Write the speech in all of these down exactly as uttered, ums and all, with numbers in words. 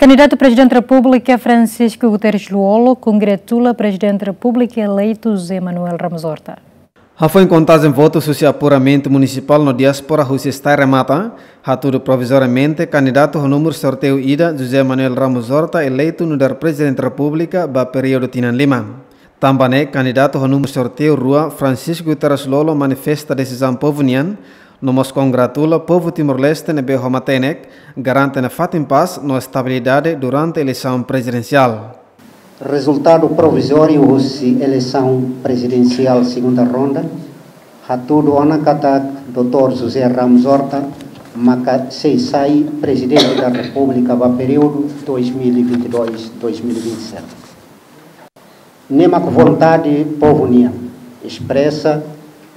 Kandidatu Prezidente Repúblika Francisco Guterres Lú-Olo kongratula Prezidente Repúblika eleitu José Manuel Ramos Horta. Hafoin kontajen votus husi apuramentu munisipál no diáspora husi STAE remata, hatudu provizoriamente kandidatu ho númeru sorteiu ida José Manuel Ramos Horta eleitu nu'udar Prezidente Repúblika ba períodu tinan lima. Tanba ne'e kandidatu ho númeru sorteiu rua Francisco Guterres Lú-Olo manifesta desizaun povu nian, no mós kongratula povu Timor-Leste ne'ebé ho matenek garante nafatin pás no estabilidade durante eleisaun prezidensiál. Rezultadu provizóriu husi eleisaun prezidensiál segunda ronda hatudu ona katak doutór José Ramos Horta maka sei sai Prezidente da Repúblika ba períodu dois mil e vinte e dois, dois mil e vinte e sete. Ne'e mak vontade povu nian espresa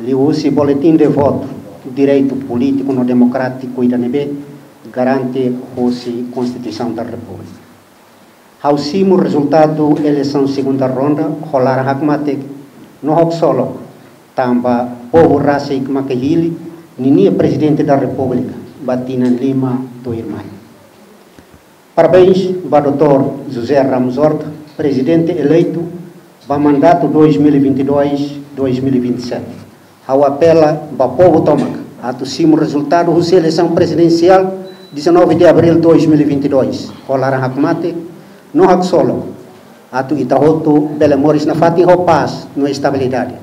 liuhusi boletin de votu, direitu polítiku no demokrátiku ida ne'ebé garante husi Konstituisaun da Repúblika. Ha'u simu rezultadu eleisaun segunda ronda ho laran hakmatek no haksolok, tanba povu rasik maka hili ninia Prezidente da Repúblika ba tinan lima tuirmai. Parabéns ba doutór José Ramos Horta, Prezidente eleitu ba mandatu dois mil e vinte e dois, dois mil e vinte e sete. Ha'u apela ba povu tomak atu simu rezultadu husi eleisaun prezidensiál dezanove de abril dois mil e vinte e dois ho laran hakmatek no haksolok, atu ita hotu bele moris nafatin ho pás no estabilidade,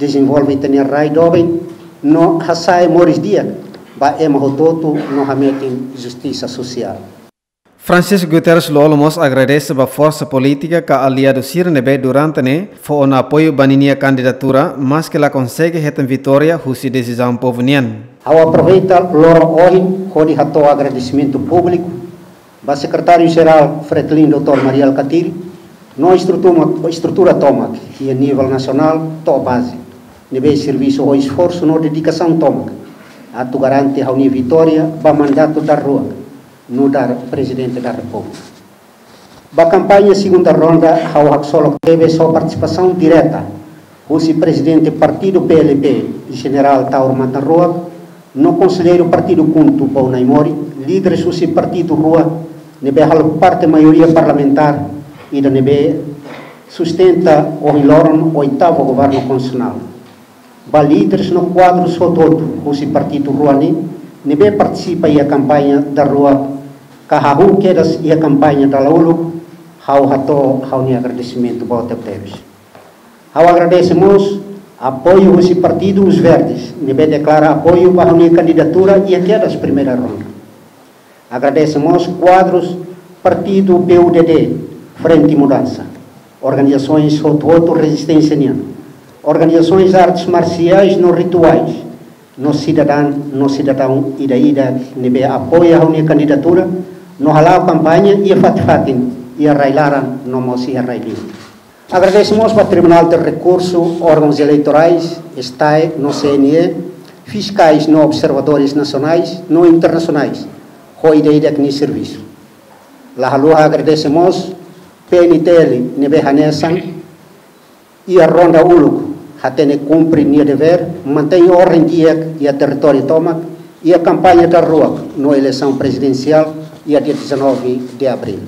dezenvolve ita-nia rai doben no hasa'e moris di'ak ba ema hotu-hotu no hametin justisa sosiál. Francisco Guterres Lú-Olo mós agradese ba forsa polítika ka aliadu sira ne'ebé durante ne'e fó ona apoiu ba ninia kandidatura, maske la konsege hetan vitória husi desizaun povu nian. Ha'u aproveita loron ohin hodi hato'o agradesimentu públiku ba Sekretáriu Jerál Fretilin doutór Mari Alkatiri, no estrutura, estrutura tomak iha nivel nasionál to'o baze, ne'ebé servisu ho esforsu no dedikasaun tomak atu garante ha'u-nia vitória ba mandatu daruak nu'udar Prezidente da Repúblika. Ba kampaña segunda ronda ha'u haksolok tebes ho partisipasaun direta husi Prezidente Partidu P L P, Jenerál Taur Matan Ruak, no konselleiru Partidu KHUNTO Paul Naimori, líderes husi partidu rua ne'ebé halo parte maioria parlamentár ida ne'ebé sustenta ohin loron oitavu governu konstitusionál. Ba líderes no kuadrus hotu-hotu husi partidu rua ne'e, ne'ebé partisipa iha kampaña daruak ka hahú kedas iha kampaña dahuluk, ha'u hato'o ha'u-nia agradesimentu boot tebetebes. Ha'u agradese mós apoiu husi Partidu Os Verdes, ne'ebé deklara apoiu ba ha'u-nia kandidatura iha kedas primeira ronda. Agradese mós kuadrus Partidu P U D D, Frente Mudança, organizasoens hotu-hotu rezisténsia nian, organizasoens artes marsiais no rituais, no sidadaun, no sidadaun ida-idak ne'ebé apoia ha'u-nia kandidatura, no hala'o kampaña iha fatin-fatin, iha rai-laran no mós iha rai-liur. Agradese mós ba Tribunál de Rekursu, órgauns eleitorais, STAE no C N E, fiskais no observadores nasionais no internasionais, ho ida-idak nia servisu. La haluha agradese mós P N T L ne'ebé hanesan iha ronda uluk hatene kumpre nia devér, mantein orden di'ak iha territóriu tomak, iha kampaña daruak no eleisaun prezidensiál iha dia dezanove de abril.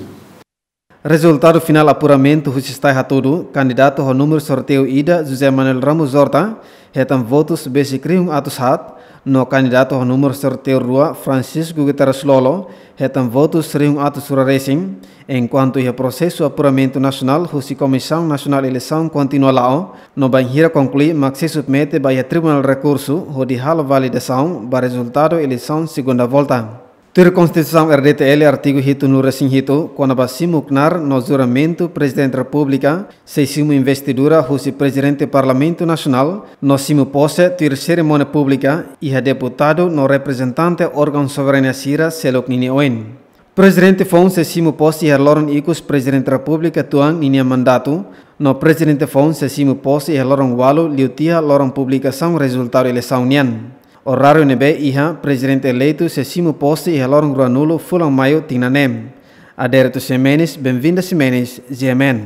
Rezultadu finál apuramentu husi STAE hatudu, kandidatu ho númeru sorteiu ida José Manuel Ramos Horta hetan votus besik rihun atus haat, no kandidatu ho númeru sorteiu rua Francisco Guterres Lú-Olo hetan votus rihun atus ruaresin, enkuantu iha prosesu apuramentu nasionál husi Komisaun Nasionál Eleisaun kontinua la'o, no bainhira konklui mak sei submete ba iha Tribunál Rekursu hodi halo validasaun ba rezultadu eleisaun segunda volta. Tuir Konstituisaun R D T L artigu hitunulu-resin-hitu, kona-ba simu knaar no juramentu Prezidente Repúblika, sei simu investidura husi Prezidente Parlamentu Nasionál, no simu pose tuir serimónia públika iha deputadu no reprezentante órgaun soberania sira seluk ninia oin. Prezidente foun sei simu pose iha loron ikus Prezidente Repúblika tuan ninia mandatu, no Prezidente foun sei simu pose iha loron ualu liu tiha loron publikasaun rezultadu eleisaun nian. Oráriu ne'ebé iha Prezidente eleitu sei simu pose iha loron ruanulu fulan Maiu tinan ne'e. Adérito Ximenes, Benvinda Ximenes, G M N.